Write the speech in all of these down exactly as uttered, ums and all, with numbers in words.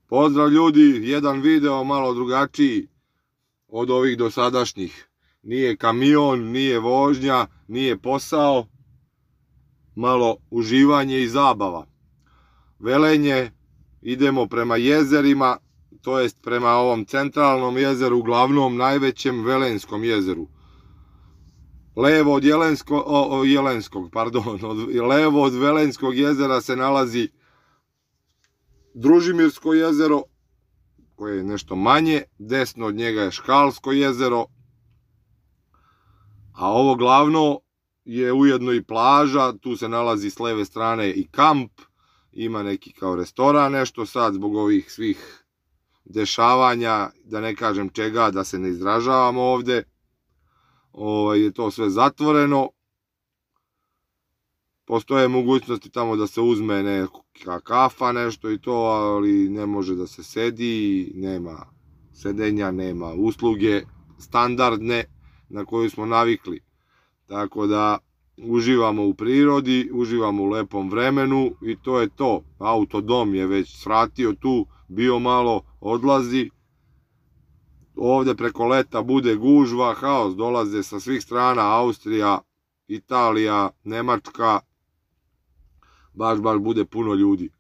Pozdrav ljudi, jedan video malo drugačiji od ovih dosadašnjih. Nije kamion, nije vožnja, nije posao, malo uživanje i zabava. Velenje, idemo prema jezerima, to jest prema ovom centralnom jezeru, glavnom najvećem Velenskom jezeru. Levo od Jelensko, o, o, Jelenskog, pardon, od, levo od Velenskog jezera se nalazi Družimirsko jezero, koje je nešto manje, desno od njega je Škalsko jezero, a ovo glavno je ujedno i plaža, tu se nalazi s leve strane i kamp, ima neki kao restoran, nešto sad zbog ovih svih dešavanja, da ne kažem čega, da se ne izražavamo ovde, ovo, je to sve zatvoreno. Postoje mogućnosti tamo da se uzme neka kafa, nešto i to, ali ne može da se sedi, nema sedenja, nema usluge standardne na koju smo navikli. Tako da uživamo u prirodi, uživamo u lepom vremenu i to je to. Autodom je već svratio tu, bio malo, odlazi. Ovde preko leta bude gužva, haos, dolaze sa svih strana, Austrija, Italija, Nemačka, baš, baš bude puno ljudi.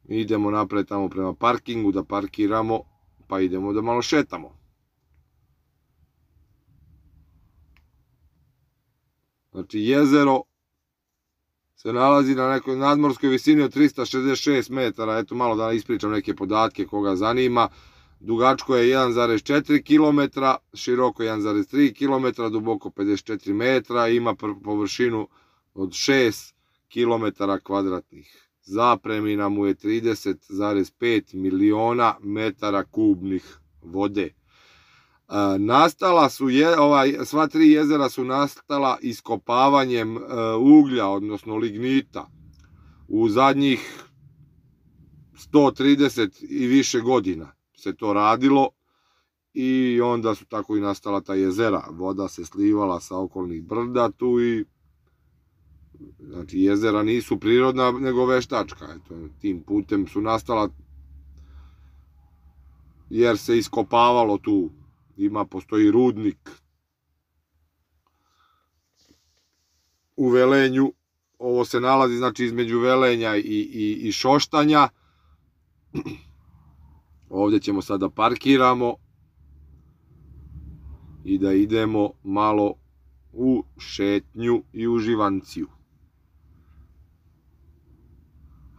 Idemo napred tamo prema parkingu da parkiramo, pa idemo da malo šetamo. Znači, jezero se nalazi na nekoj nadmorskoj visini od trista šezdeset šest metara, eto malo da ispričam neke podatke koga zanima. Dugačko je jedan zarez četiri kilometra, široko jedan zarez tri kilometra, duboko pedeset četiri metra, ima površinu od šest kilometara kvadratnih. Zapremina mu je trideset zarez pet miliona metara kubnih vode. E, nastala su, je, ovaj, sva tri jezera su nastala iskopavanjem e, uglja, odnosno lignita, u zadnjih sto trideset i više godina se to radilo i onda su tako i nastala ta jezera. Voda se slivala sa okolnih brda tu i znači jezera nisu prirodna nego veštačka. Eto, tim putem su nastala jer se iskopavalo tu. Ima, postoji rudnik u Velenju. Ovo se nalazi znači između Velenja i, i, i Šoštanja. Ovdje ćemo sada parkiramo i da idemo malo u šetnju i uživanciju.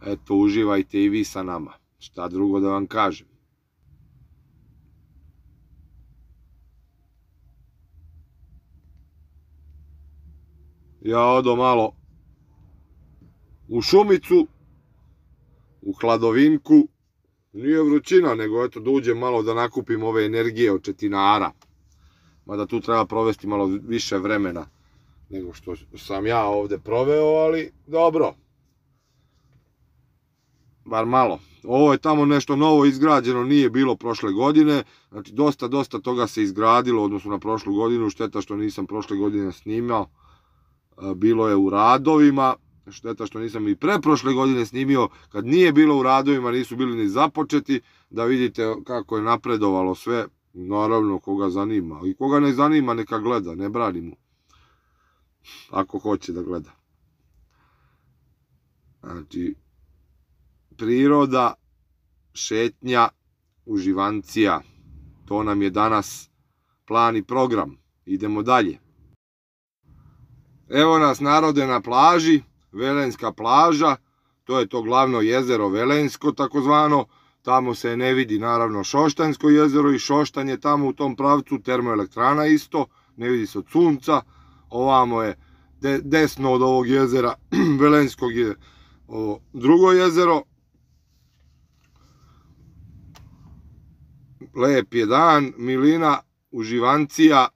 Eto, uživajte i vi sa nama. Šta drugo da vam kažem. Ja odo malo u šumicu, u hladovinku. Nije vrućina, nego eto da uđem malo da nakupim ove energije od četinara. Mada tu treba provesti malo više vremena nego što sam ja ovde proveo, ali dobro. Bar malo. Ovo je tamo nešto novo izgrađeno, nije bilo prošle godine. Znači dosta, dosta toga se izgradilo odnosno na prošlu godinu. Šteta što nisam prošle godine snimao. Bilo je u radovima. Šteta što nisam i preprošle godine snimio, kad nije bilo u radovima, nisu bili ni započeti, da vidite kako je napredovalo sve. Naravno, koga zanima. I koga ne zanima, neka gleda, ne brani mu. Ako hoće da gleda. Znači, priroda, šetnja, uživancija. To nam je danas plan i program. Idemo dalje. Evo nas, narode, na plaži. Velenska plaža, to je to glavno jezero Velensko takozvano, tamo se ne vidi naravno Šoštanjsko jezero i Šoštanj je tamo u tom pravcu, termoelektrana isto, ne vidi se od sunca, ovamo je de, desno od ovog jezera Velenskog je ovo drugo jezero. Lep je dan, milina, uživancija,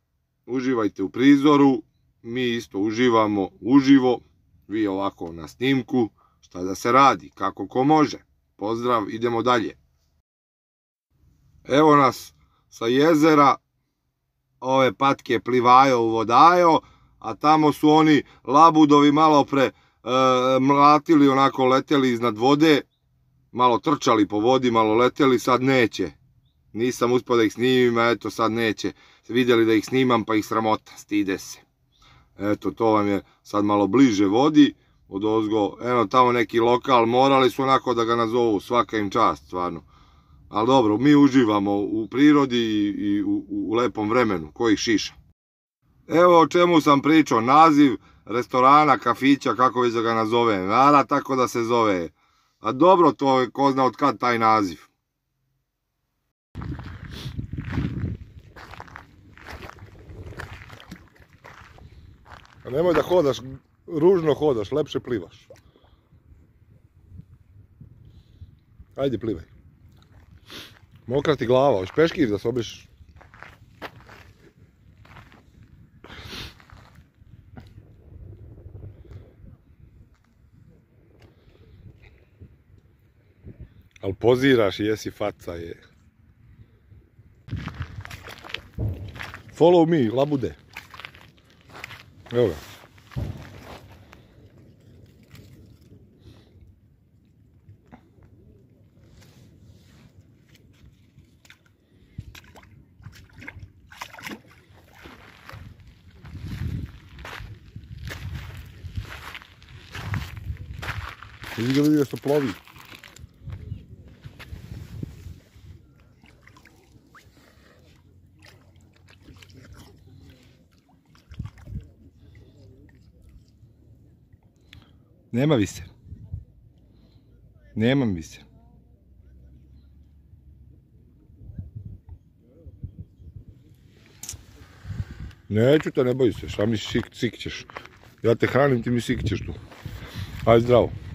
uživajte u prizoru, mi isto uživamo uživo. Vi ovako na snimku, šta da se radi, kako ko može. Pozdrav, idemo dalje. Evo nas sa jezera, ove patke plivaju u vodajo, a tamo su oni labudovi malo pre e, mlatili, onako leteli iznad vode, malo trčali po vodi, malo leteli, sad neće. Nisam uspio da ih snimim, a eto sad neće. Vidjeli da ih snimam pa ih sramota, stide se. Eto, to vam je sad malo bliže vodi, od ozgo, eno tamo neki lokal, morali su onako da ga nazovu, svaka im čast, stvarno. Ali dobro, mi uživamo u prirodi i u, u, u lepom vremenu, ko ih šiša. Evo o čemu sam pričao, naziv restorana, kafića, kako već da ga nazovem, Vara tako da se zove. A dobro, to je ko zna od kad taj naziv. A nemoj da hodaš, ružno hodaš, lepše plivaš. Ajde, plivaj. Mokra ti glava, hoćeš peškir da se obrišeš? Ali poziraš i jesi faca je. Follow me, labude. Evo ga. Vidi ga, vidi ga što plovi. Nema vise. Nemam vise. Neću te, ne boj se, šta mi sik, sikćeš. Ja te hranim, ti mi sikćeš tu. Ajde, zdravo.